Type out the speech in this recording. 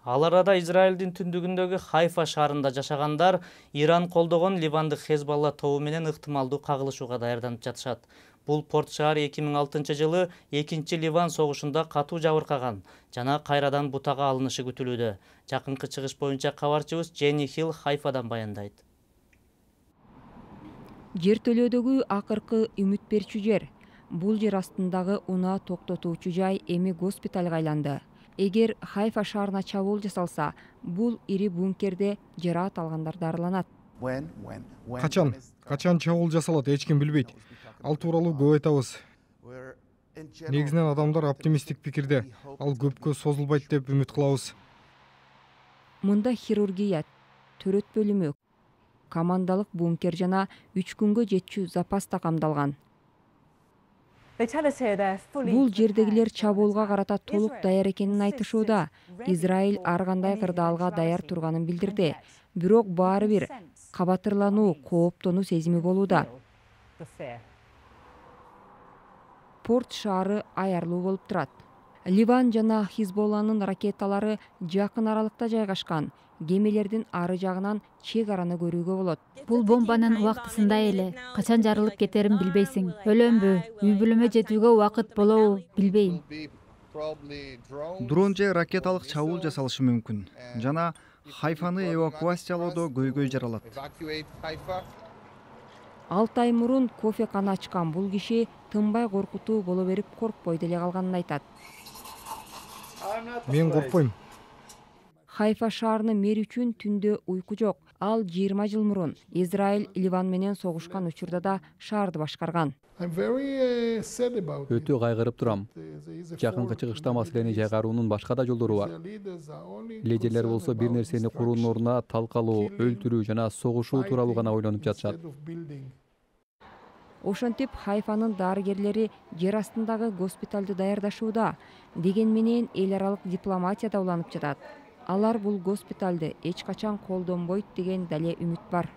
Ал арада Израилдин түндүгүндөгү Хайфа шаарында жашагандар Иран колдогон Ливандык Хезболла тобу менен ыктымалдуу кагылышууга даярданып жатышат. Бул порт шаар 2006-жылы экинчи Ливан согушунда катуу жабыркаган жана кайрадан бутага алынышы күтүлүүдө. Жакынкы чыгыш боюнча кабарчыбыз Дженни Хилл Хайфадан баяндайт. Жертөлөөдөгү акыркы үмүт берчү жер. Бул жер астындагы унаа токтотуучу жай эми госпиталга айланды. Эгер Хайфа шаарына чабуул жасалса, бул ири бункерде жараат алгандар дарыланат. Качан чабуул жасалат, эч ким билбейт. Ал тууралуу көп айтабыз. Негизинен адамдар оптимисттик пикирде. Ал көпкө созулбайт деп үмүт кылабыз. Мында хирургия, төрөт бөлүмү, командалык бункер жана 3 күнгө жетчү запас да камдалган. Бул жердегилер чабуулга карата толук даяр экенин айтышууда. Израиль ар кандай кырдаалга даяр турганын билдирди. Бирок баары бир кабатырлануу, кооптонуу сезими болууда. Порт шаары аярлуу болуп турат. Ливан жана Хизболланын ракеталары жакын аралыкта жайгашкан. Кемелердин ары жагынан чек араны көрүүгө болот. Бул бомбанын убактысында эле качан жарылып кетерин билбейсиң. Өлөмбү, үй бүлөмө жетүүгө убакыт болобу билбейм. Дрон же ракеталык чабуул жасалышы мүмкүн. Жана Хайфаны эвакуациялоодо көйгөй жаралат. 6 ай мурун кофекана ачкан бул киши тынбай коркутуу боло берип коркпой деле калганын айтат. Мен коркпойм. Хайфа шаарынын мэри үчүн түндө уйку жок. Ал 20 жыл мурун Израиль Ливан менен согушкан учурда да шаарды башкарган. Өтө кайгырып турам. Жакынкы чыгышта маселени жайгаруунун башка да жолдору бар. Лидерлер болсо бир нерсени куруунун ордуна талкалоо, өлтүрүү жана согушуу тууралуу гана ойлонуп жатышат. Ошентип Хайфанын дарыгерлери жер астындагы госпиталды даярдашууда. Деген менен эл аралык дипломатия да уланып жатат. Алар бул госпиталды эч качан колдонбойт деген дале үмүт бар.